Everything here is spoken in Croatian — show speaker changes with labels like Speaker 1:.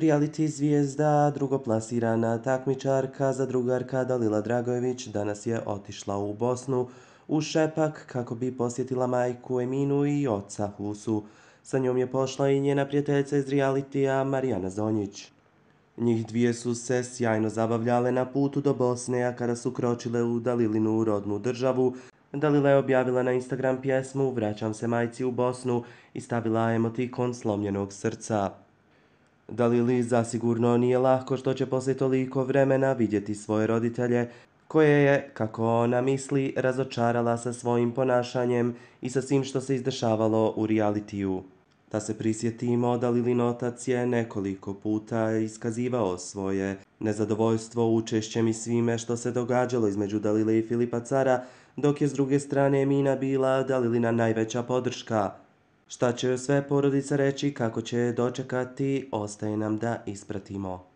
Speaker 1: Reality zvijezda, drugoplasirana takmičarka zadrugarka Dalila Dragojević danas je otišla u Bosnu u Šepak kako bi posjetila majku Eminu i oca Husu. Sa njom je pošla i njena prijateljica iz realitija Marijana Zonjić. Njih dvije su se sjajno zabavljale na putu do Bosne, a kada su kročile u Dalilinu rodnu državu, Dalila je objavila na Instagram pjesmu "Vraćam se majci u Bosnu" i stavila emotikon slomljenog srca. Dalili zasigurno nije lako što će poslije toliko vremena vidjeti svoje roditelje, koje je, kako ona misli, razočarala sa svojim ponašanjem i sa svim što se izdešavalo u realitiju. Da se prisjetimo, Dalilin otac je nekoliko puta iskazivao svoje nezadovoljstvo učešćem i svime što se događalo između Dalile i Filipa Cara, dok je s druge strane Emina bila Dalilina najveća podrška. Šta će sve porodica reći, kako će je dočekati, ostaje nam da ispratimo.